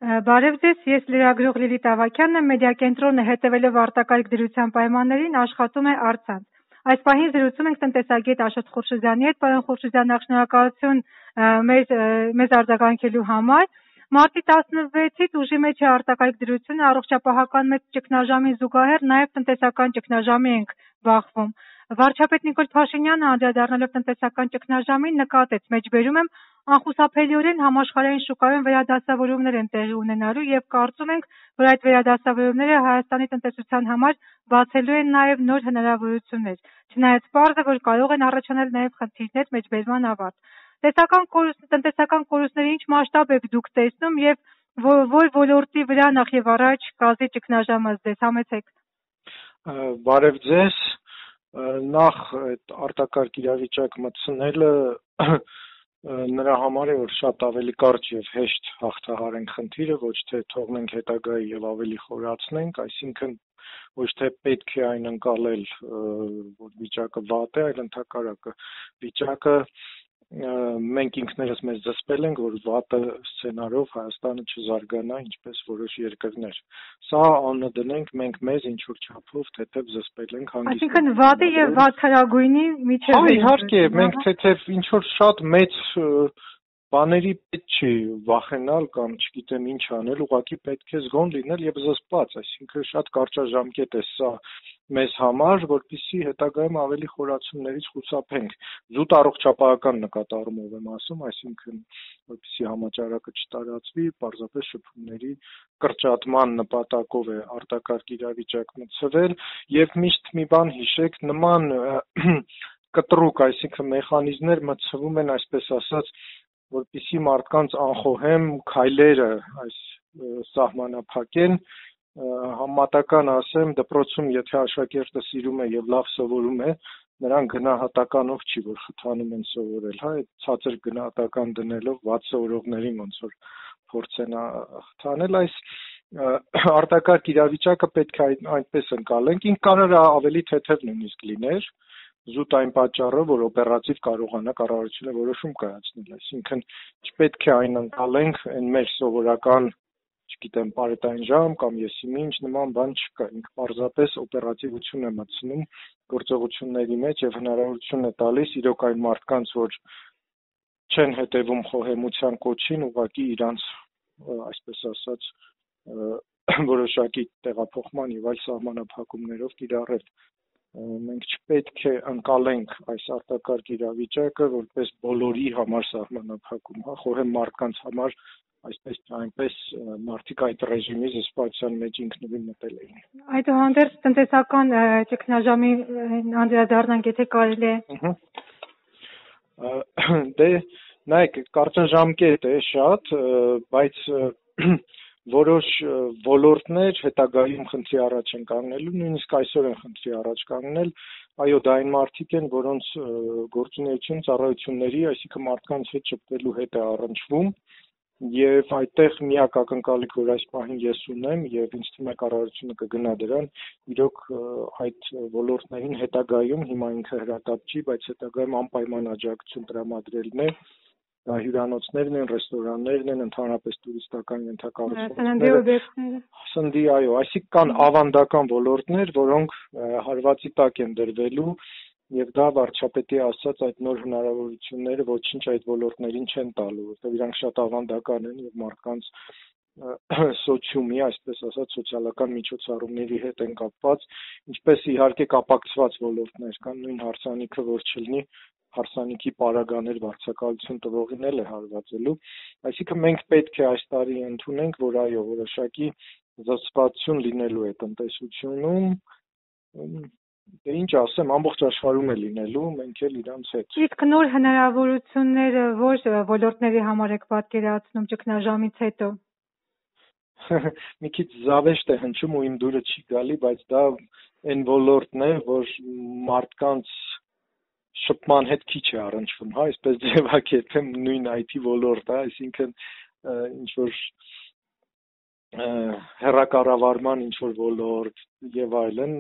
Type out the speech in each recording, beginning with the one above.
Բարև ձեզ, ես լրագրող Լիլիթ Ավագյանն եմ, մեդիակենտրոնը հետևելով արտակարգ դրության պայմաններին աշխատում է առցանց։ Այս պահին զրուցում ենք տնտեսագետ Աշոտ Խուրշիդյանի հետ, պարոն Խուրշիդյան, նախ շնորհակալություն մեզ արձագանքելու համար։ Մարտի 16-ից ուժի մեջ է արտակարգ դրությունը, առողջապահական մեծ ճգնաժամին զուգահեռ նաև տնտեսական ճգնաժամի ենք բախվում։ Վարչապետ Նիկոլ Փաշինյանը անդրադառնալով տնտեսական ճգնաժամին նկատեց, մեջբերում եմ, անխուսափելիորեն համաշխարհային շուկայում վերադասավորումներ են տեղի ունենալու եւ կարծում ենք, որ այդ վերադասավորումները Հայաստանի տնտեսության համար բացելու են նաեւ նոր հնարավորություններ, չնայած պարզ է, որ կարող են առաջանալ նաեւ խնդիրներ մեջբերման ավարտ։ Տնտեսական կորուստների ինչ մասշտաբ եք դուք տեսնում եւ որ ոլորտի վրա նախ եւ առաջ կազդի ճգնաժամը ձեզ համեցեք։ Բարև ձեզ, նախ այդ արտակարգ իրավիճակ մտցնելը նրա համար է, որ շատ ավելի կարճ եւ հեշտ հաղթահարենք խնդիրը, ոչ թե թողնենք հետագայի եւ ավելի խորացնենք, այսինքն ոչ թե պետք է այն ընկալել, որ վիճակը վատ է, այլ ընդհակառակը վիճակը մենք ինքներս մեզ զսպել ենք, որ վատ սցենարով Հայաստանը չզարգանա, ինչպես որոշ երկրներ։ Սա անունը դնենք մենք մեզ ինչ որ չափով թեթև զսպել ենք հանգիստ։ Այսինքն վատը եւ վատթարագույնի միջև։ Հա, իհարկե, մենք թեթև ինչ որ շատ մեծ բաների պետք չի վախենալ կամ չգիտեմ ինչ անել, ուղղակի պետք է զգոն լինել եւ զսպված, այսինքն շատ կարճաժամկետ է սա մեզ համար, որպեսզի հետագայում ավելի խորացումներից խուսափենք։ Զուտ առողջապահական նկատառումով եմ ասում, այսինքն որպեսզի համաճարակը չտարածվի, պարզապես շփումների կրճատման նպատակով է արտակարգ իրավիճակ մտցվել եւ միշտ մի բան հիշեք, նման կտրուկ, այսինքն մեխանիզմներ մտցվում են, այսպես ասած, որպեսզի մարդկանց անխոհեմ քայլերը այս սահմանափակեն, համատական ասեմ, դպրոցում եթե աշակերտը սիրում է եւ լավ սովորում է, նրան գնահատականով չի, որ խթանում են սովորել, հա, այդ ցածր գնահատական դնելով վատ սովորողներին ոնց որ փորձեն խթանել, այս արտակարգ իրավիճակը պետք է այնպես ընկալենք, ինք կարող է ավելի թեթև նույնիսկ լիներ, զուտ այն պատճառով, որ օպերատիվ կարողանա կառավարությունը որոշում կայացնել, այսինքն չպետք է այն ընկալենք այն մեր սովորական, չգիտեմ, պարետային ժամ կամ եսիմինչ նման բան չկա, ինքը պարզապես օպերատիվություն է մտցնում գործողությունների մեջ եւ հնարավորություն է տալիս իրոք այն մարդկանց, որ չեն հետևում խոհեմության կոչին, ուղղակի իրանց, այսպես ասած, որոշակի տեղափոխման եւ այլ սահմանափակումներով կիրառել։ Մենք չպետք է ընկալենք այս արտակարգ իրավիճակը որպես բոլորի համար սահմանափակում, հա, խոհեմ մարդկանց համար այսպես այնպես մարդիկ այդ ռեժիմի զսպվածության մեջ ինքնուրույն մտել էին։ Այդուհանդերձ տնտեսական ճգնաժամի անդրադառնանք, եթե կարելի է։ Դե նայեք, կարճաժամկետ է շատ, բայց որոշ ոլորտներ հետագայում խնդրի առաջ են կանգնելու, նույնիսկ այսօր են խնդրի առաջ կանգնել, այո, դա այն մարդիկ են, որոնց գործունեություն ծառայությունների, այսինքն մարդկանց հետ շփվելու հետ է առնչվում, եւ այդտեղ միակ ակնկալիք, որ այս պահին ես ունեմ եւ ինձ թվում է կառավարությունը կգնա դրան, իրոք այդ ոլորտներին հետագայում հիմա ինքը հրատապ չի, բայց հետագայում անպայման աջակցություն տրամադրելն է, հյուրանոցներն են, ռեստորաններն են, ընդհանրապես տուրիստական ենթակառուցվածքները, սննդի, այո, այսինքն կան ավանդական ոլորտներ, որոնք հարվածի տակ են դրվելու եւ դա վարչապետի ասած այդ նոր հնարավորությունները ոչինչ այդ ոլորտներին չեն տալու, որովհետեւ իրանք շատ ավանդական են եւ մարդկանց սոցիումի, այսպես ասած, սոցիալական միջոցառումների հետ են կապված, ինչպես իհարկե կապակցված ոլորտներ կան, նույն հարսանիքը որ չլինի, հարսանիքի պարագաներ վարձակալություն տվողին էլ է հարվածելու, այսինքն մենք պետք է այս տարի ընդունենք, որ այո, որոշակի զսպվածություն լինելու է տնտեսությունում, դե ինչ ասեմ, ամբողջ աշխարհում է լինելու, մենք էլ իրանց հետ։ Իսկ նոր հնարավորությունները որ ոլորտների համար եք պատկերացնում ճգնաժամից հետո։ Մի քիչ զավեշտ է հնչում ու իմ դուրը չի գալի, բայց դա այն ոլորտն է, որ մարդկանց շփման հետ քիչ է առնչվում, հա, այսպես ձևակերպեմ նույն IT ոլորտը, այսինքն ինչ որ հեռակառավարման ինչ որ ոլորտ եւ այլն,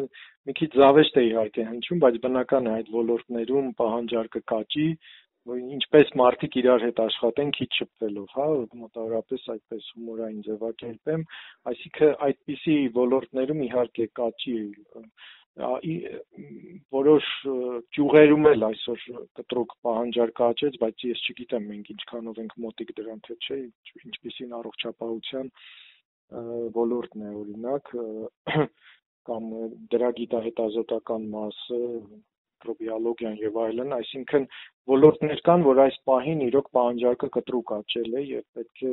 մի քիչ զավեշտ է իհարկե հնչում, բայց բնական է այդ ոլորտներում պահանջարկը կաճի, ինչպես մարդիկ իրար հետ աշխատեն քիչ շփվելով, հա, մոտավորապես այդպես հումորային ձևակերպեմ, այսինքն այդպիսի ոլորտներում իհարկե կաճի որոշ ճյուղերում էլ այսօր կտրուկ պահանջարկը աճեց, բայց ես չգիտեմ մենք ինչքանով ենք մոտիկ դրան, թե չէ, ինչպիսին առողջապահության ոլորտն է օրինակ, կամ դրա գիտահետազոտական մասը, միկրոբիոլոգիան եւ այլն, այսինքն ոլորտներ կան, որ այս պահին իրոք պահանջարկը կտրուկ աճել է եւ պետք է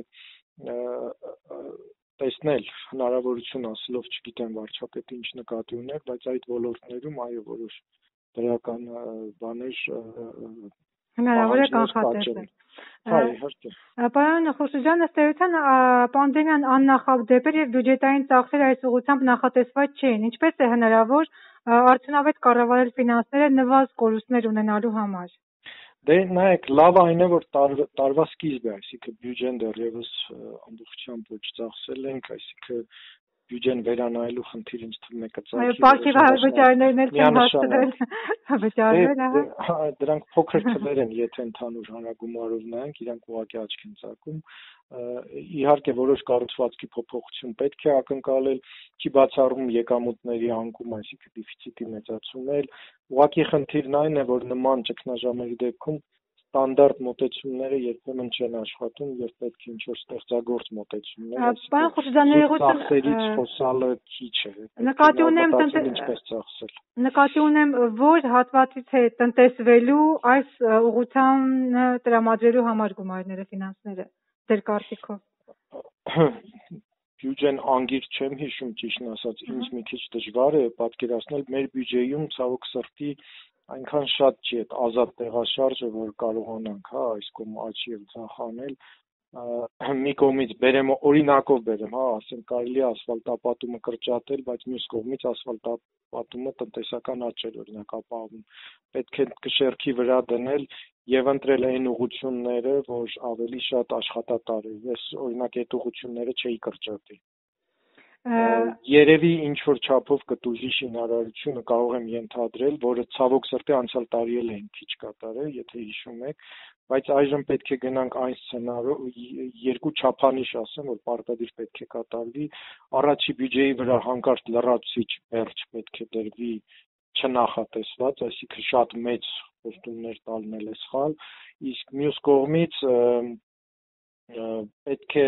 տեսնել հնարավորություն ասելով, չգիտեմ վարչապետը ինչ նկատի ուներ, բայց այդ ոլորտներում այո որոշ դրական բաներ հնարավոր է կանխատեսել։ Հա, իհարկե։ Պարոն Խուրշիդյան, ըստ էության պանդեմիան աննախադեպ էր եւ բյուջետային ծախսերը այս ուղղությամբ նախատեսված չէին։ Ինչպես է հնարավոր արդյունավետ կառավարել ֆինանսները նվազ կորուստներ ունենալու համար։ Դե նայեք, լավ այն է, որ տարվա սկիզբ է, այսինքն բյուջեն դեռևս ամբողջությամբ ոչ ծախսել ենք, այսինքն բյուջեն վերանայելու խնդիր ինձ թվում է կծագի։ Այո, պարտքի վճարներն էլ չեն հասցրել վճարվել, հա։ Դրանք փոքր թվեր են, եթե ընդհանուր հանրագումարով նայենք, իրանք ուղղակի աչք են ծակում։ Իհարկե որոշ կառուցվածքի փոփոխություն պետք է ակնկալել, չի բացառում եկամուտների անկում, այսինքն դեֆիցիտի մեծացումել։ Ուղղակի խնդիրն այն է, որ նման ճգնաժամերի դեպքում ստանդարտ մոտեցումները երբեմն չեն աշխատում եւ պետք է ինչ-որ ստեղծագործ մոտեցումներ, ծախսերից խոսալը քիչ է։ Նկատի ունեմ, որ հատվածից է տնտեսվելու այս ուղղությամբ տրամադրելու համար գումարները, ֆինանսները, դեր կարծիքով։ Բյուջեն անգիր չեմ հիշում, ճիշտն ասած, ինձ մի քիչ դժվար է պատկերացնել, մեր բյուջեում ցավոք սրտի այնքան շատ չի այդ ազատ տեղաշարժը, որ կարողանանք, հա, այս կողմ աճ եւ ցախ անել, մի կողմից բերեմ, օրինակով բերեմ, հա, ասենք կարելի է ասֆալտապատումը կրճատել, բայց մյուս կողմից ասֆալտապատումը տնտեսական աճ էր օրինակ ապահովում։ Պետք է կշեռքի վրա դնել եւ ընտրել այն ուղղությունները, որ ավելի շատ աշխատատար է։ Ես օրինակ այդ ուղղությունները չէի կրճատի։ Երևի ինչ որ չափով կտուժի շինարարությունը կարող եմ ենթադրել, որը ցավոք սրտի անցյալ տարի էլ էին քիչ կատարել, եթե հիշում եք, բայց այժմ պետք է գնանք այն սցենարով, երկու չափանիշ ասեմ, որ պարտադիր պետք է կատարվի, առաջի բյուջեի վրա հանկարծ լրացուցիչ բերջ պետք է դրվի չնախատեսված, այսինքն շատ մեծ խոստումներ տալն էլ է սխալ, իսկ մյուս կողմից պետք է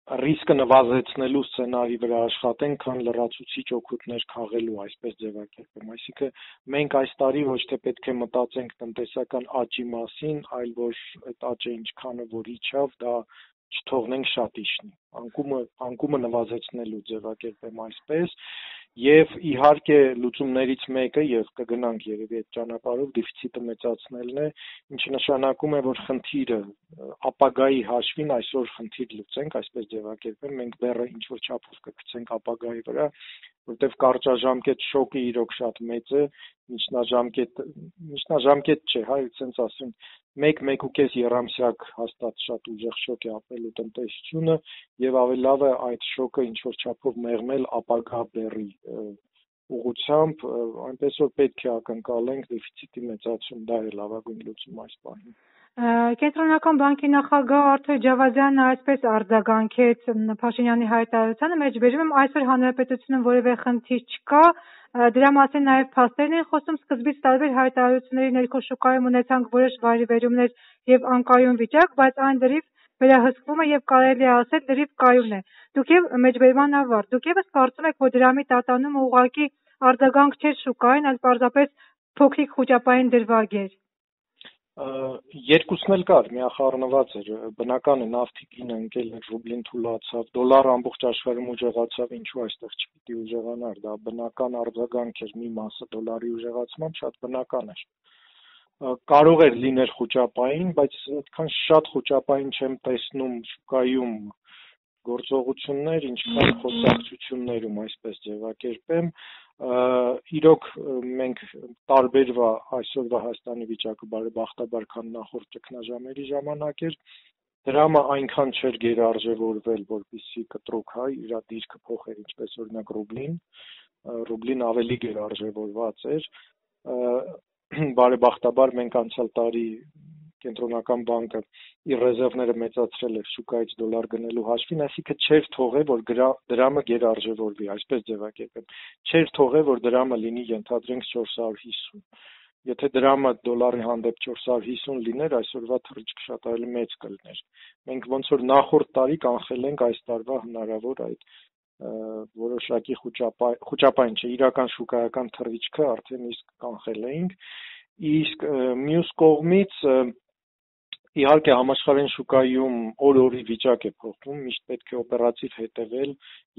ռիսկը նվազեցնելու սցենարի վրա աշխատենք, քան լրացուցիչ օգուտներ քաղելու, այսպես ձևակերպեմ։ Այսինքն մենք այս տարի ոչ թե պետք է մտածենք տնտեսական աճի մասին, այլ որ այդ աճը ինչքանը որ իջավ, դա չթողնենք շատ իջնի։ Անկումը նվազեցնելու ձևակերպեմ այսպես, եւ իհարկե լուծումներից մեկը եւ կգնանք երևի այդ ճանապարհով դեֆիցիտը մեծացնելն է, ինչը նշանակում է, որ խնդիրը ապագայի հաշվին այսօր խնդիր լուծենք, այսպես ձևակերպեմ, մենք բեռը ինչ որ չափով կգցենք ապագայի վրա, որտեվ կարճաժամկետ շոկը իրոք շատ մեծ է, միջնաժամկետ չէ, հա, այսպես ասեմ, 1-1.5 եռամսյակ հաստատ շատ ուժեղ շոկ է ապրելու տնտեսությունը եւ ավելի լավ է այդ շոկը ինչ որ չափով մեղմել ապագա բեռի ուղղությամբ, այնպես որ պետք է ակնկալենք դեֆիցիտի մեծացում, դա է լավագույն լուծումը այս պահին։ Կենտրոնական բանկի նախագահ Արթուր Ջավադյանը այսպես արձագանքեց Փաշինյանի հայտարարությանը, մեջբերում եմ այսօր հանրապետությունում որևէ խնդիր չկա, դրա մասին նաև փաստերն են խոսում, սկզբից տարբեր հայտարարությունների ներքո շուկայում ունեցանք որոշ վայրիվերումներ եւ անկայուն վիճակ, բայց այն լրիվ վերահսկվում է եւ կարելի է ասել լրիվ կայուն է։ Դուք եւ մեջբերման ավարտ, դուք եւս կարծում եք, որ դրամի տատանումը ուղղակի արձագանք չէր շուկային, այլ պարզապես փոքրիկ խոճապային դրվագ էր։ Երկուսն էլ կար, միախառնված էր, բնական է նավթի գինը ընկել էր, ռուբլին թուլացավ, դոլարը ամբողջ աշխարհում ուժեղացավ, ինչու այստեղ չպիտի ուժեղանար, դա բնական արձագանք էր, մի մասը դոլարի ուժեղացման շատ բնական էր։ Կարող էր լինել խոճապային, բայց այդքան շատ խոճապային չեմ տեսնում շուկայում գործողություններ, ինչքան խոսակցություններում, այսպես ձևակերպեմ, իրոք մենք տարբերվա այսօրվա Հայաստանի վիճակը բարեբախտաբար քան նախորդ ճգնաժամերի ժամանակ էր, դրամը այնքան չէր գերարժևորվել, որպեսզի կտրուկ հայ իր դիրքը փոխեր, ինչպես օրինակ ռուբլին ավելի գերարժևորված էր, բարեբախտաբար մենք անցյալ տարի կենտրոնական բանկը իր ռեզերվները մեծացրել էր շուկայից դոլար գնելու հաշվին, այսինքն չէր թողել, որ դրամը գերարժևորվի, այսպես ձևակերպեմ, չէր թողել, որ դրամը լինի ենթադրենք 450։ Եթե դրամը դոլարի հանդեպ 450 լիներ, այսօրվա թռիչքը շատ ավելի մեծ կլիներ։ Մենք ոնց որ նախորդ տարի կանխել ենք այս տարվա հնարավոր այդ որոշակի խոճապային չէ, իրական շուկայական թռիչքը արդեն իսկ կանխել էինք, իսկ մյուս կողմից իհարկե համաշխարհային շուկայում օր-օրի վիճակ է փոխվում, միշտ պետք է օպերատիվ հետևել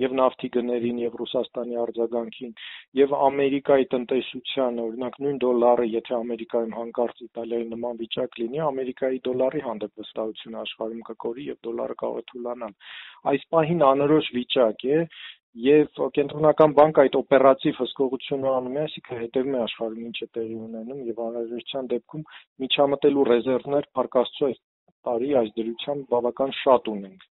եւ նավթի գներին եւ Ռուսաստանի արձագանքին եւ Ամերիկայի տնտեսության, օրինակ նույն դոլարը, եթե Ամերիկայում հանկարծ Իտալիայի նման վիճակ լինի, Ամերիկայի դոլարի հանդեպ վստահությունը աշխարհում կկորի եւ դոլարը կարող է թուլանալ։ Այս պահին անորոշ վիճակ է եւ կենտրոնական բանկը այդ օպերատիվ հսկողությունը անում է, այսինքն հետևում է աշխարհում ինչ է տեղի ունենում եւ անհրաժեշտության դեպքում միջամտելու ռեզերվներ փառկաստու այս տարի այս դրությամբ բավական շատ ունենք։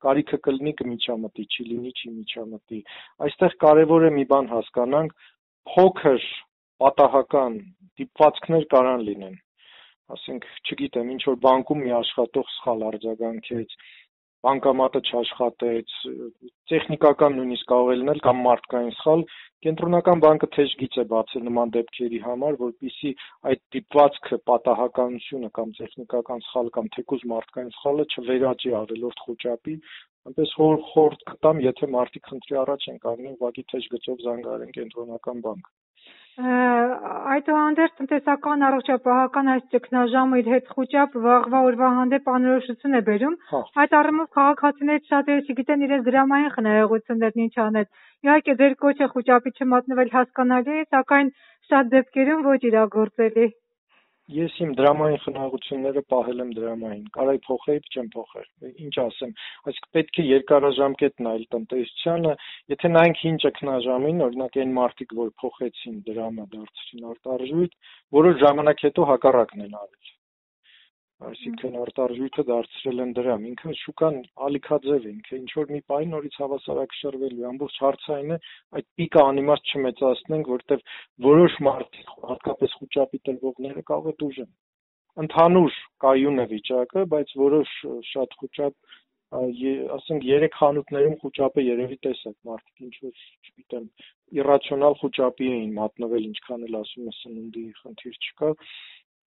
Կարիքը կլինի կմիջամտի, չի լինի չի միջամտի։ Այստեղ կարևոր է մի բան հասկանանք, փոքր պատահական դիպվածքներ կարան լինեն։ Ասենք, չգիտեմ, ինչ որ բանկում մի աշխատող սխալ արձագանքեց, բանկամատը չաշխատեց, տեխնիկական նույնիսկ կարող է լինել կամ մարդկային սխալ, կենտրոնական բանկը թեժ գիծ է բացել նման դեպքերի համար, որպեսզի այդ դիպվածքը, պատահականությունը կամ տեխնիկական սխալ կամ թեկուզ մարդկային սխալը չվերաճի ավելորդ խոճապի, այնպես խորհուրդ կտամ, եթե մարդիկ խնդրի առաջ են կանգնում, ուղղակի թեժ գծով զանգահարեն կենտրոնական բանկ։ Այդուհանդերձ տնտեսական առողջապահական այս ճգնաժամը իր հետ խոճապ վաղվա օրվա հանդեպ անորոշություն է բերում։ Այդ առումով քաղաքացիներից շատերը չգիտեն իրենց դրամային խնայողություններն ինչ անել։ Իհարկե ձեր կոչը խոճապի չմատնվել հասկանալի է, սակայն շատ դեպքերում ոչ իրագործելի։ Ես իմ դրամային խնայողությունները պահել եմ դրամային, կարայի փոխեի, չեմ փոխել, ինչ ասեմ, այսինքն պետք է երկարաժամկետ նայել տնտեսությանը, եթե նայենք հին ճգնաժամին, օրինակ այն մարդիկ, որ փոխեցին դրամը դարձրին արտարժույթ, որոշ ժամանակ հետո հակառակն են արել, այսինքն արտարժույթը դարձրել են դրամ, ինքը շուկան ալիքաձև է, ինքը ինչ որ մի պահի նորից հավասարակշռվելու է, ամբողջ հարցը այն է, այդ պիկը անիմաստ չմեծացնենք, որտեղ որոշ մարդիկ, հատկապես խոճապի տրվողները կարող է դուժեն։ Ընդհանուր կայուն է վիճակը, բայց որոշ շատ խոճապ, ասենք 3 խանութներում խոճապը երևի տեսակ, մարդիկ ինչ որ, չգիտեմ, իռացիոնալ խոճապի էին մատնվել, ինչքան էլ ասում է սննդի խնդիր չկա։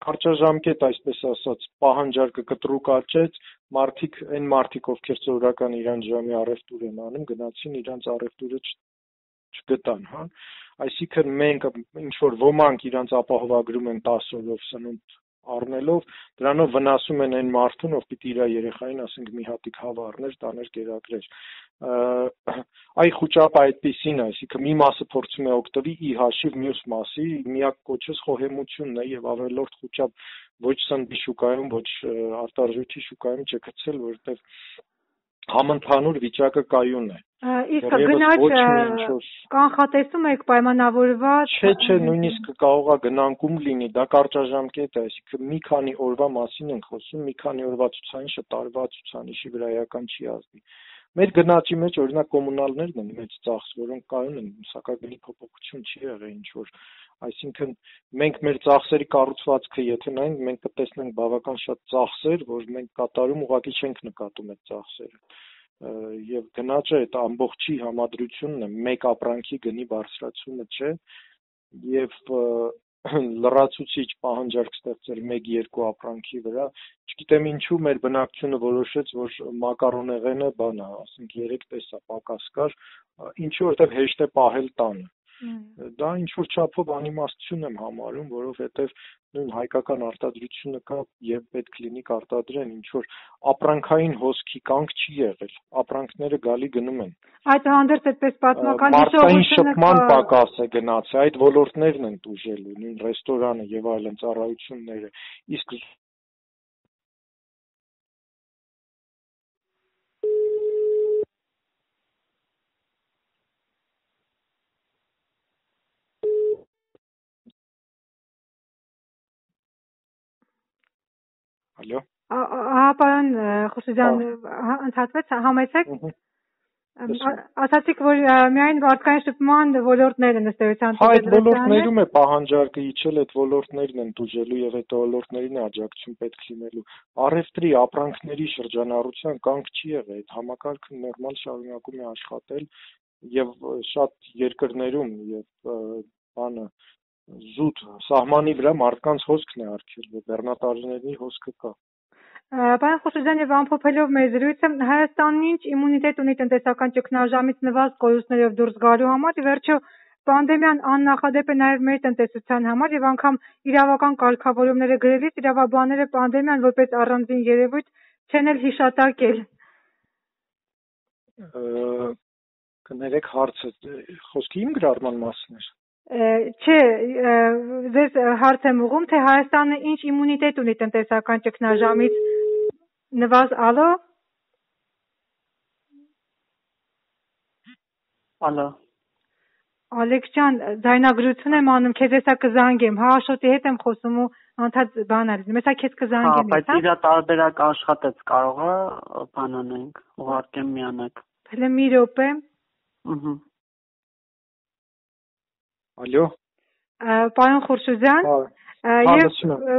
Կարճաժամկետ, այսպես ասած, պահանջարկը կտրուկ աճեց, այն մարդիկ, ովքեր սովորական իրանց ժամի առևտուր են անում, գնացին իրանց առևտուրը չգտան, հա։ Այսինքն մենք ինչ որ ոմանք իրանց ապահովագրում են 10 օրով սնունդ առնելով, դրանով վնասում են այն մարդուն, ով պիտի իր երեխային, ասենք, մի հատիկ հավ առներ, տաներ կերակրեր։ Այ խոճապը այդպիսին է, այսինքն մի մասը փորձում է օգտվի ի հաշիվ մյուս մասի, միակ կոչս խոհեմությունն է եւ ավելորդ խոճապ ոչ սննդի շուկայում, ոչ արտարժույթի շուկայում չգցել, որովհետեւ համընդհանուր վիճակը կայուն է։ Իսկ գնաճ կանխատեսում եք պայմանավորված։ Չէ, նույնիսկ կարող է գնանկում լինի, դա կարճաժամկետ է, այսինքն մի քանի օրվա մասին ենք խոսում, մի քանի օրվա ցուցանիշը տարվա ցուցանիշի վրա էական չի ազդի։ Մեր գնաճի մեջ օրինակ կոմունալներն են մեծ ծախս, որոնք կայուն են, սակագնի փոփոխություն չի եղել ինչ որ, այսինքն մենք մեր ծախսերի կառուցվածքը եթե նայենք, մենք կտեսնենք բավական շատ ծախսեր, որ մենք կատարում ուղղակի չենք նկատում այդ ծախսերը։ Եվ գնաճը այդ ամբողջի համադրությունն է, մեկ ապրանքի գնի բարձրացումը չէ, եւ լրացուցիչ պահանջարկ ստեղծել 1-2 ապրանքի վրա, չգիտեմ ինչու մեր բնակչությունը որոշեց, որ մակարոնեղենը բան է, ասենք 3 տեսա պակաս կար, ինչու որտեղ հեշտ է պահել տանը։ Դա ինչ որ չափով անիմաստություն եմ համարում, որովհետև նույն հայկական արտադրությունը կա եւ պետք լինի կարտադրեն, ինչ որ ապրանքային հոսքի կանգ չի եղել, ապրանքները գալի գնում են։ Այդուհանդերձ այդպես պատմական հիշողությունը շփման պակաս է գնացել, այդ ոլորտներն են տուժելու, նույն ռեստորանը եւ այլն ծառայությունները, իսկ Ալո։ Պարոն Խոսուզյան, ընդհատվեց, համեցեք։ Ասացիք, որ միայն մարդկային շփման ոլորտները ըստ էության այդ ոլորտներում է պահանջարկը իջել, այդ ոլորտներն են տուժելու եւ այդ ոլորտներին աջակցություն պետք լինելու։ Առևտրի, ապրանքների շրջանառության կանգ չի եղել, այդ համակարգը նորմալ շարունակում է աշխատել եւ շատ երկրներում եւ բանը զուտ սահմանի վրա մարդկանց հոսքն է արգելվել, բեռնատարիների հոսքը կա։ Պարոն Խուշուձյան, եւ ամփոփելով մեր զրույցը, Հայաստանն ինչ իմունիտետ ունի տնտեսական ճգնաժամից նվազդ կորուստներով դուրս գալու համար, ի վերջո պանդեմիան աննախադեպ է նաեւ մեր տնտեսության համար եւ անգամ իրավական կարգավորումները գրելիս իրավաբանները պանդեմիան որպես առանձին երևույթ չեն էլ հիշատակել։ Կներեք հարցը խոսքի իմ գրառման մասն էր։ Չէ, ձեզ հարց եմ ուղղում, թե Հայաստանը ինչ իմունիտետ ունի տնտեսական ճգնաժամից նվազալո։ Ալո։ Ալեքս ջան, ձայնագրություն եմ անում, քեզ հեսա կզանգեմ, հա Աշոտի հետ եմ խոսում ու անդադ բան արի, մեսա քեզ կզանգեմ։ Բայց իրա տարբերակ աշխատեց, կարող է բանանենք, ուղարկեմ միանակ։ Հələ մի րոպե։ Ալո։ Պարոն Խուրշուձյան, եւ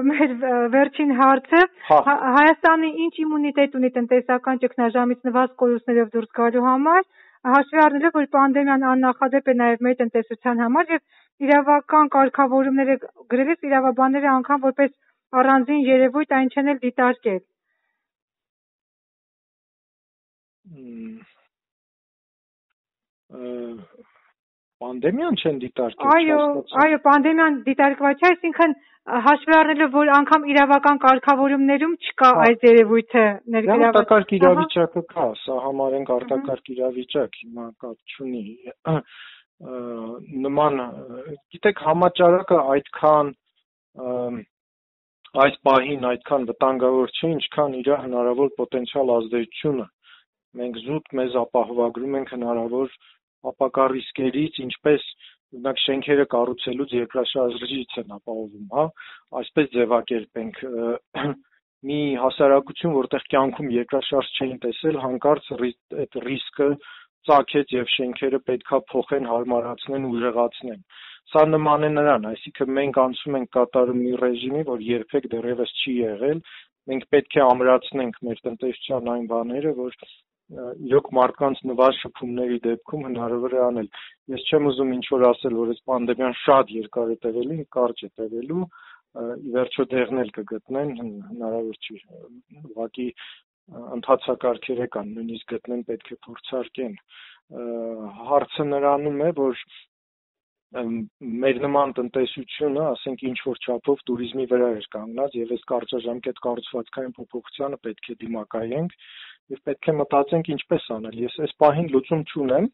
մեր վերջին հարցը, Հայաստանը ինչ իմունիտետ ունի տնտեսական ճգնաժամից նվազդ կորուստներով դուրս գալու համար, հաշվի առնելով, որ պանդեմիան աննախադեպ է նաեւ մեր տնտեսության համար եւ իրավական կարգավորումները գրելիս իրավաբանները անգամ որպես առանձին երևույթ այն չեն էլ դիտարկել։ Պանդեմիան չեն դիտարկել։ Այո, պանդեմիան դիտարկված չէ, այսինքն հաշվի առնելով, որ անգամ իրավական կարգավորումներում չկա այս երևույթը ներգրաված։ Արտակարգ իրավիճակը կա, սա համարենք արտակարգ իրավիճակ, հիմա կապ չունի։ Նման, գիտեք, համաճարակը այդքան այս պահին այդքան վտանգավոր չէ, ինչքան իր հնարավոր պոտենցիալ ազդեցությունը։ Մենք զուտ մեզ ապահովագրում ենք հնարավոր ապակա ռիսկերից, ինչպես օրինակ շենքերը կառուցելուց երկրաշարժից են ապահովում, հա, այսպես ձևակերպենք մի հասարակություն, որտեղ կյանքում երկրաշարժ չէին տեսել, հանկարծ այդ ռիսկը ծագեց եւ շենքերը պետքա փոխեն, հարմարացնեն, ուժեղացնեն։ Սա նման է նրան, այսինքն մենք անցում ենք կատարում մի ռեժիմի, որ երբեք դեռևս չի եղել, մենք պետք է ամրացնենք մեր տնտեսության այն բաները, որ իրոք մարդկանց նվազդ շփումների դեպքում հնարավոր է անել։ Ես չեմ ուզում ինչ-որ ասել, որ այս պանդեմիան շատ երկար է տևելու, կարճ է տևելու, ի վերջո դեղն էլ կգտնեն, հնարավոր չի։ Ուղղակի ընթացակարգերը կան, նույնիսկ գտնեն պետք է փորձարկեն։ Հարցը նրանում է, որ մեր նման տնտեսությունը, ասենք ինչ-որ չափով туриզմի վրա էր կանգնած եւ այս կարճաժամկետ կառուցվածքային փոփոխությանը պետք է դիմակայենք եւ պետք է մտածենք ինչպես անել։ Ես այս պահին լուծում չունեմ,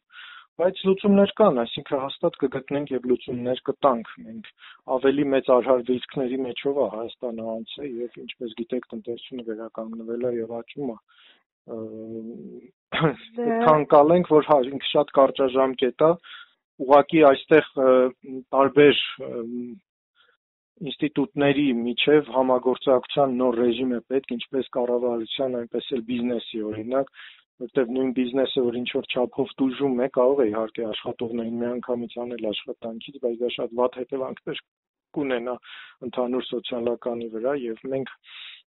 բայց լուծումներ կան, այսինքն հաստատ կգտնենք եւ լուծումներ կտանք։ Մենք ավելի մեծ արհարվիզքների մեջով է Հայաստանը անցել եւ ինչպես գիտեք տնտեսությունը վերականգնվել է եւ աճում է։ Ցանկալենք, որ ինքը շատ կարճաժամկետ է, ուղղակի այստեղ տարբեր ինստիտուտների միջև համագործակցության նոր ռեժիմ է պետք, ինչպես կառավարության, այնպես էլ բիզնեսի, օրինակ, որտեղ նույն բիզնեսը, որ ինչ-որ չափով տուժում է, կարող է իհարկե աշխատողներին միանգամից անել աշխատանքից, բայց դա շատ վատ հետևանքներ կունենա ընդհանուր սոցիալականի վրա եւ մենք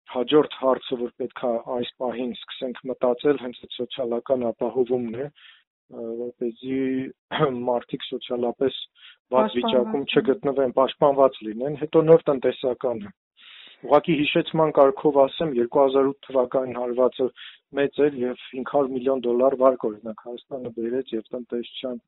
հաջորդ հարցը, որ պետք է այս պահին սկսենք մտածել, հենց այդ սոցիալական ապահովումն է, որպեսզի մարդիկ սոցիալապես վատ վիճակում չգտնվեն, պաշտպանված լինեն, հետո նոր տնտեսականը։ Ուղղակի հիշեցման կարգով ասեմ, 2008 թվականին հարվածը մեծ էր եւ $500 միլիոն վարկ օրինակ Հայաստանը բերեց եւ տնտեսության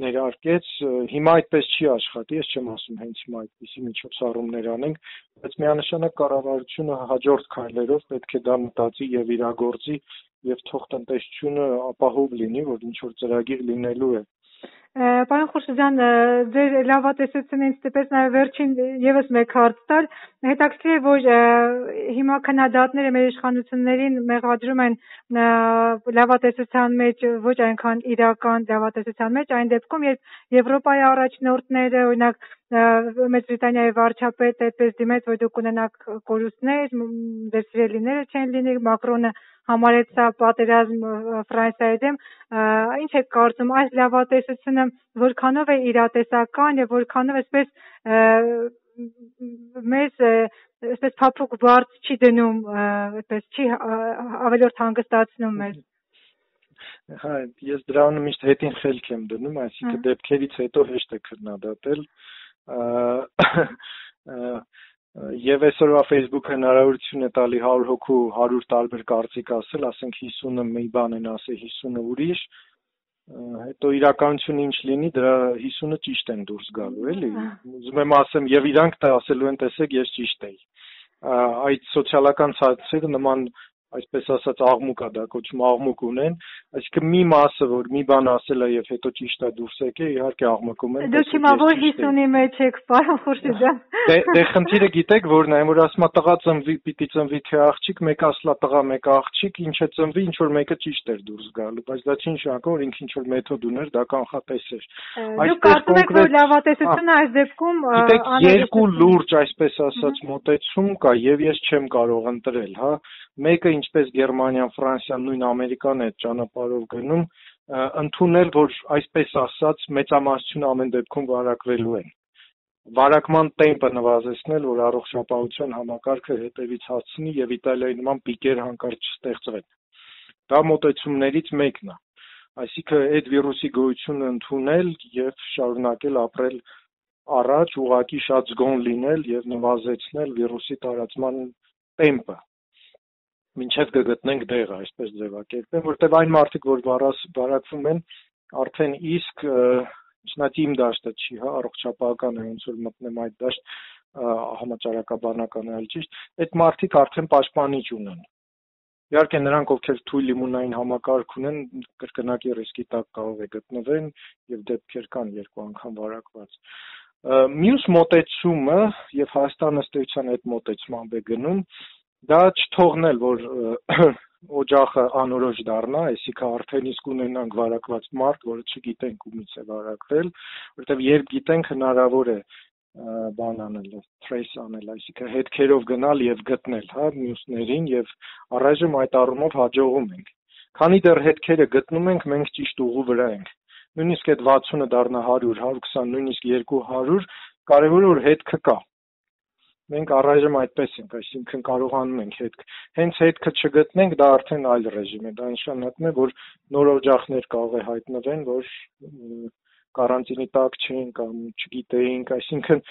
ներարկեց, հիմա այդպես չի աշխատի, ես չեմ ասում հենց հիմա այդպիսի միջոցառումներ անենք, բայց միանշանակ կառավարությունը հաջորդ քայլերով պետք է դա մտածի եւ իրագործի եւ թող տնտեսությունը ապահով լինի, որ ինչ որ ծրագիր լինելու է։ Պարոն Խուրշուձյան, ձեր լավատեսությունը ինձ տպես նաև վերջին եւս մեկ հարց տալ, հետաքրքիր է, որ հիմա քննադատները մեր իշխանություններին մեղադրում են լավատեսության մեջ, ոչ այնքան իրական լավատեսության մեջ, այն դեպքում, երբ Եվրոպայի առաջնորդները, օրինակ Մեծ Բրիտանիայի վարչապետը այդպես դիմեց, որ դուք ունենաք կորուստներ, ձեր սիրելիները չեն լինի, Մակրոնը համարեց սա պատերազմ Ֆրանսիայի դեմ, ինչ եք կարծում, այս լավատեսությունը որքանով է իրատեսական եւ որքանով այսպես մեզ այսպես փափուկ բարձ չի դնում, այսպես չի ավելորդ հանգստացնում մեզ։ Հա, ես դրանը միշտ հետին խելք եմ դնում, այսինքն դեպքերից հետո հեշտ է քննադատել։ Եվ այսօրվա Facebook հնարավորություն է տալի 100 հոգու 100 տարբեր կարծիք ասել, ասենք 50-ը մի բան են ասել, 50-ը ուրիշ, հետո իրականությունը ինչ լինի, դրա 50-ը ճիշտ են դուրս գալու, էլի։ Ուզում եմ ասեմ, եւ իրանք դա ասելու են, տեսեք, ես ճիշտ եի։ Այդ սոցիալական ցանցերը նման այսպես ասած աղմուկ է, դա կոչվում աղմուկ ունեն, այսինքն մի մասը, որ մի բան ասել է եւ հետո ճիշտ է դուրս եկել, իհարկե աղմկում են։ Դուք հիմա որ 50-ի մեջ եք, պարոն Խուրշիդյան։ Դե խնդիրը գիտեք որն է, որ ասում է տղա ծնվի, պիտի ծնվի թե աղջիկ, մեկը ասլա տղա, մեկը աղջիկ, ինչը ծնվի, ինչ որ մեկը ճիշտ էր դուրս գալու, բայց դա չի նշանակում, որ ինքը ինչ որ մեթոդ ուներ, դա կանխատեսեր։ Դուք կարծում եք, որ լավատեսությունը այս դեպքում գիտեք, երկու լուրջ, այսպես ասած, մոտեցում կա եւ ես չեմ կարող ընտրել, հա։ Մեկը ինչպես Գերմանիան, Ֆրանսիան, նույն Ամերիկան է ճանապարհով գնում, ընդունել, որ այսպես ասած մեծամասնությունը ամեն դեպքում վարակվելու են։ Վարակման տեմպը նվազեցնել, որ առողջապահության համակարգը հետևից հասցնի եւ Իտալիայի նման պիկեր հանկարծ չստեղծվեն։ Դա մոտեցումներից մեկն է։ Այսինքն այդ վիրուսի գոյությունը ընդունել եւ շարունակել ապրել առաջ, ուղղակի շատ զգոն լինել եւ նվազեցնել վիրուսի տարածման տեմպը։ Մինչև կգտնենք դեղը, այսպես ձևակերպեմ, որտեղ այն մարդիկ, որ վարակվում են, արդեն իսկ իմ դաշտը չի, հա, առողջապահական է, ոնց որ մտնեմ այդ դաշտ, համաճարակաբանական է, այլ ճիշտ, այդ մարդիկ արդեն պաշտպանիչ ունեն։ Իհարկե նրանք, ովքեր թույլ իմունային համակարգ ունեն, կրկնակի ռիսկի տակ կարող է գտնվեն եւ դեպքեր կան 2 անգամ վարակված։ Մյուս մոտեցումը եւ Հայաստանը ըստ էության այդ մոտեցմամբ է գնում, դա չթողնել, որ օջախը անորոշ դառնա, այսինքն արդեն իսկ ունենանք վարակված մարդ, որը չգիտենք ումից է վարակվել, որովհետև երբ գիտենք հնարավոր է բան անել, trace անել, այսինքն հետքերով գնալ եւ գտնել, հա, մյուսներին եւ առայժմ այդ առումով հաջողում ենք։ Քանի դեռ հետքերը գտնում ենք, մենք ճիշտ ուղու վրա ենք։ Նույնիսկ այդ 60-ը դառնա 100, 120, նույնիսկ 200, կարևորը որ հետքը կա։ Մենք առայժմ այդպես ենք, այսինքն կարողանում ենք հետք։ Հենց հետքը չգտնենք, դա արդեն այլ ռեժիմ է, դա նշանակում է, որ նոր օջախներ կարող է հայտնվեն, որ կարանտինի տակ չեն կամ չգիտեինք, այսինքն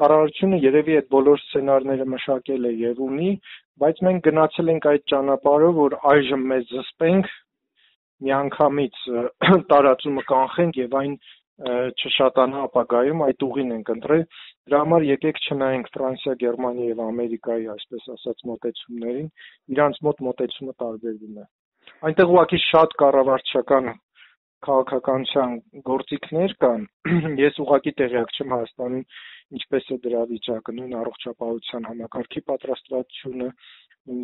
կառավարությունը երևի այդ բոլոր սցենարները մշակել է եւ ունի, բայց մենք գնացել ենք այդ ճանապարհով, որ այժմ մեզ զսպենք, միանգամից տարածումը կանխենք եւ այն չշատանա ապագայում, այդ ուղին ենք ընտրել։ Դրա համար եկեք չնայենք Ֆրանսիա, Գերմանիա եւ Ամերիկայի, այսպես ասած, մոտեցումներին, իրանց մոտ մոտեցումը տարբերվում է։ Այնտեղ ուղղակի շատ կառավարչական քաղաքականության գործիքներ կան։ Ես ուղղակի տեղյակ չեմ Հայաստանում ինչպես է դրա վիճակը, նույն առողջապահության համակարգի պատրաստվածությունը,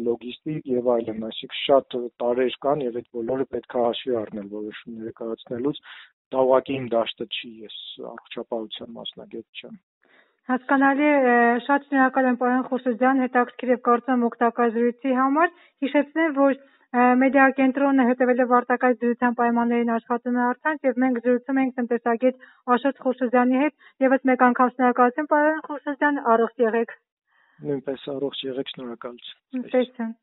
լոգիստիկ եւ այլն, այսինքն շատ տարեր կան եւ այդ բոլորը պետք է հաշվի առնել որոշումները կայացնելուց։ Դա ուղղակի իմ դաշտը չի, ես առողջապահության մասնագետ չեմ։ Հասկանալի է, շատ շնորհակալ եմ պարոն Խուրշիդյան, հետաքրքիր եւ կարծում օգտակար զրույցի համար։ Հիշեցնեմ, որ մեդիա կենտրոնը հետևելով արտակարգ դրության պայմաններին աշխատում է առցանց եւ մենք զրուցում ենք տնտեսագետ Աշոտ Խուրշիդյանի հետ։ Եվս մեկ անգամ շնորհակալություն պարոն Խուրշիդյան, առողջ եղեք։ Նույնպես առողջ եղեք, շնորհակալություն։ Տեսություն։